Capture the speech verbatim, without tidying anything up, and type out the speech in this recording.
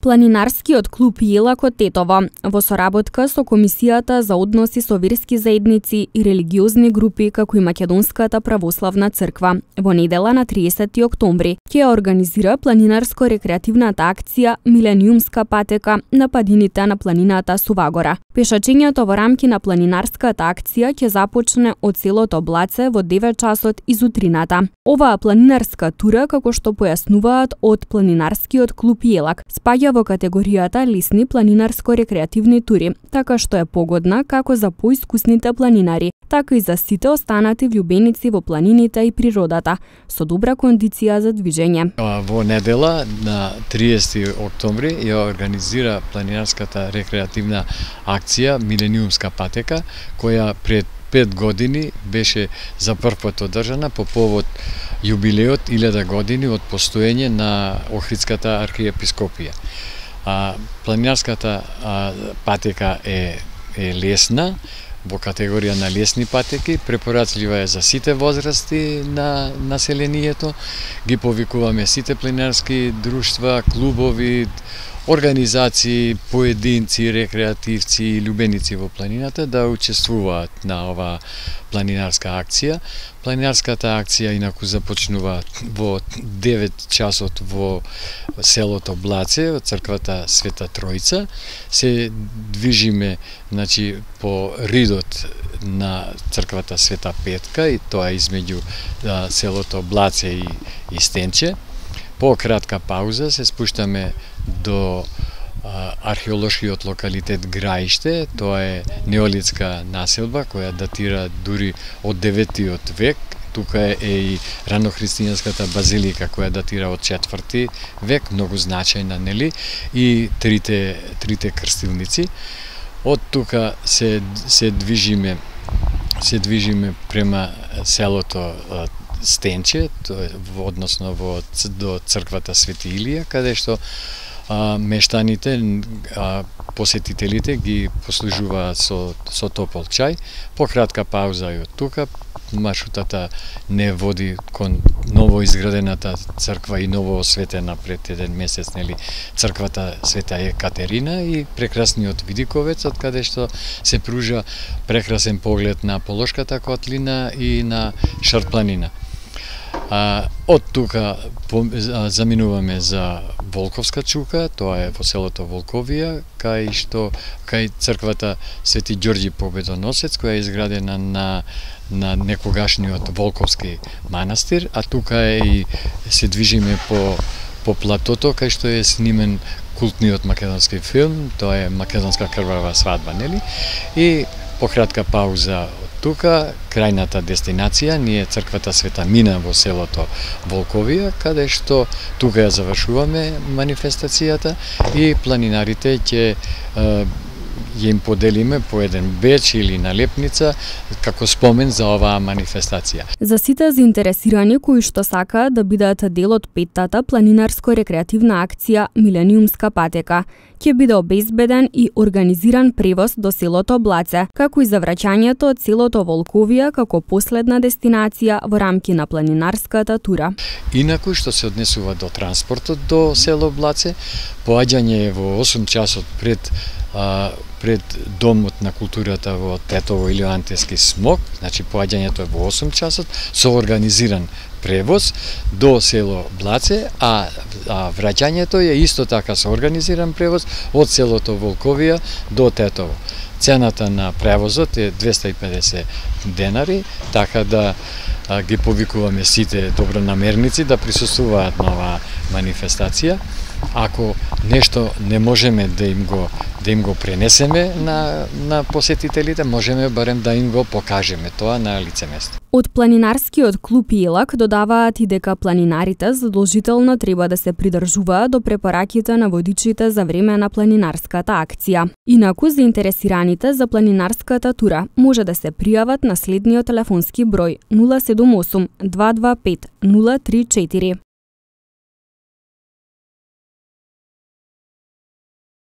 Планинарскиот клуб Јелак од Тетово, во соработка со Комисијата за односи со верски заедници и религиозни групи како и Македонската православна црква, во недела на триесети октомври ќе организира планинарско-рекреативната акција Милениумска патека на падините на планината Сувагора. Пешачењето во рамки на планинарската акција ќе започне од селото Блаце во девет часот изутрината. Оваа планинарска тура, како што појаснуваат од Планинарскиот клуб Јелак, спаѓа во категоријата лесни планинарско-рекреативни тури, така што е погодна како за поискусните планинари, така и за сите останати влюбеници во планините и природата, со добра кондиција за движење. Во недела на триесети октомври ја организира планинарската рекреативна акција Милениумска патека, која пред пет години беше за прв пат одржана по повод јубилеот илјада години од постоење на Охридската архиепископија. А, планинарската а, патека е, е лесна, во категорија на лесни патеки, препорачлива е за сите возрасти на населението. Ги повикуваме сите планинарски друштва, клубови, организации, поединци, рекреативци и љубеници во планината да учествуваат на оваа планинарска акција. Планинарската акција инаку започнува во девет часот во селото Блаце, од црквата Света Тројца. Се движиме, значи, по ридот на црквата Света Петка, и тоа измеѓу да, селото Блаце и, и Стенче. По кратка пауза се спуштаме до а, археолошкиот локалитет Граиште. Тоа е неолитска населба која датира дури од деветиот век. Тука е и ранохристијанската базилика која датира од четврти век, многу значајна, нели, и трите трите крстилници. Од тука се се движиме се движиме према селото Стенче, односно во до црквата Свети Илија, каде што а, мештаните, а, посетителите ги послужуваат со, со топол чај. По кратка пауза и од тука маршрутата не води кон ново изградената црква и ново осветена пред еден месец, нели, црквата Света Екатерина и прекрасниот Видиковец, од каде што се пружа прекрасен поглед на Полошката котлина и на Шарпланина. А, од тука по, а, заминуваме за Волковска чука, тоа е во селото Волковија, кај што кај црквата Свети Ѓорѓи Победоносец, која е изградена на на некогашниот Волковски манастир, а тука е и се движиме по по платото кај што е снимен култниот македонски филм, тоа е Македонска крвава свадба, нели? И по кратка пауза од тука, крајната дестинација ни е црквата Света Мина во селото Волковија, каде што тука ја завршуваме манифестацијата и планинарите ќе ја им поделиме по еден беч или налепница како спомен за оваа манифестација. За сите заинтересирани кои што сакаат да бидат дел од петтата планинарско-рекреативна акција Милениумска патека, ќе биде обезбеден и организиран превоз до селото Блаце, како и за враќањето од селото Волковија како последна дестинација во рамки на планинарската тура. Инаку што се однесува до транспортот до село Блаце, поаѓање е во осум часот пред а, пред Домот на културата во Тетово или Антески смок, значи поаѓањето е во осум часот со организиран превоз до село Блаце, а, а враќањето е исто така со организиран превоз од селото Волковија до Тетово. Цената на превозот е двесте и педесет денари, така да а, ги повикуваме сите добронамерници да присуствуваат на оваа манифестација. Ако нешто не можеме да им го да им го пренесеме на на посетителите, можеме барем да им го покажеме тоа на лице место. Од Планинарскиот клуб Јелак додаваат и дека планинарите задолжително треба да се придржуваат до препораките на водичите за време на планинарската акција. Инаку заинтересираните за планинарската тура може да се пријават на следниот телефонски број нула седум осум два два пет нула три четири.